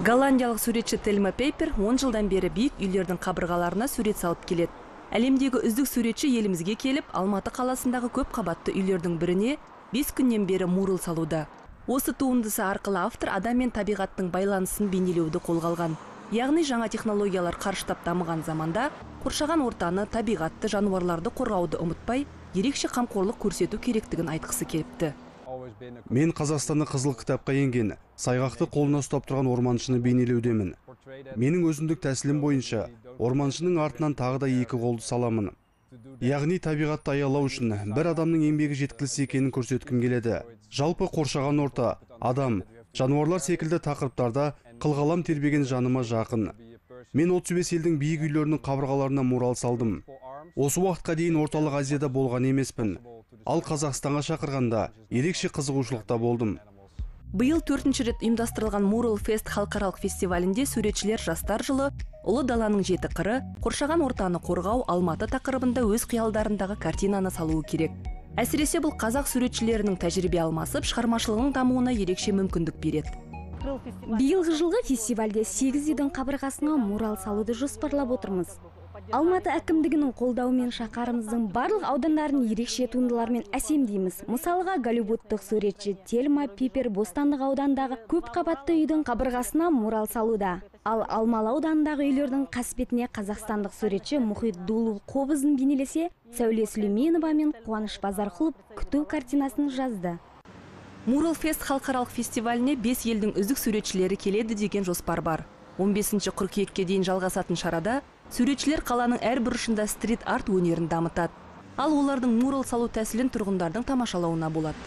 Голландиялық суретші Тельма Пейпер 10 жылдан бері биік үйлердің қабырғаларына сурет салып келеді. Әлемдегі үздік суретші елімізге келіп, Алматы қаласындағы көп қабатты үйлердің біріне 5 күннен бері мурал салуда. Осы туындысы арқылы автор адам мен табиғаттың байланысын бейнелеуді қолға алған. Яғни жаңа технологиялар қарыштап дамыған заманда қоршаған ортаны, табиғатты, жануарларды қорғауды ұмытпай, ерекше қамқорлық көрсету керектігін айтқысы келіпті. Мен Қазақстанның қызыл кітапқа енген сайғақты қолына ұстап тұрған орманшыны бейнелеудемін. Менің өзіндік тәсілім бойынша орманшының артынан тағы да 2 қолды саламын. Яғни табиғатты аялау үшін бір адамның еңбегі жеткіліксіз екенін көрсеткім келеді. Жалпы қоршаған орта, адам, жануарлар секілді тақырыптарда қылғалам тербеген жаныма жақын. Мен 35 елдің биік үйлерінің қабырғаларына мурал салдым. Осы уақытқа дейін орталық Азияда болған емеспін. Ал Қазақстанға шақырғанда ерекше қызығушылықта болдым. Биыл 4-ші рет ұйымдастырылған Mural Fest халықаралық фестивалінде суретшілер жастар жылы ұлы даланың 7 қыры, қоршаған ортаны қорғау, Алматы тақырыбында өз қиялдарындағы картинаны салуы керек. Әсіресе бұл қазақ суретшілерінің тәжірибе алмасып, шығармашылығының дамуына ерекше мүмкіндік береді. Биылғы жылғы фестивальде 8 үйдің қабырғасына мурал салуды жоспарлап отырмыз. Алматы әкімдігінің қолдауымен шаһарымыздың барлық аудандарын ерекше туындылармен әсемдейміз. Мысалға, голливудтық суретші Тельма Пейпер Бостандық аудандағы көп қабатты үйдің қабырғасына мурал салуда. Ал Алмалы ауданындағы үйлердің қасбетіне қазақстандық суретші Мұхит Дулу қобызын бейнелесе, Сәуле Сүлейменова мен Қуаныш Базарқұлов күту картинасын жазды. Mural Fest халықаралық фестиваліне 5 елдің үздік суретшілері келеді деген жоспар бар. 15 қыркүйекке дейін жалғасатын шарада суретшілер қаланың әр бұрышында стрит арт өнерін дамытады. Ал олардың мурал салу тәсілін тұрғындардың тамашалауына болады.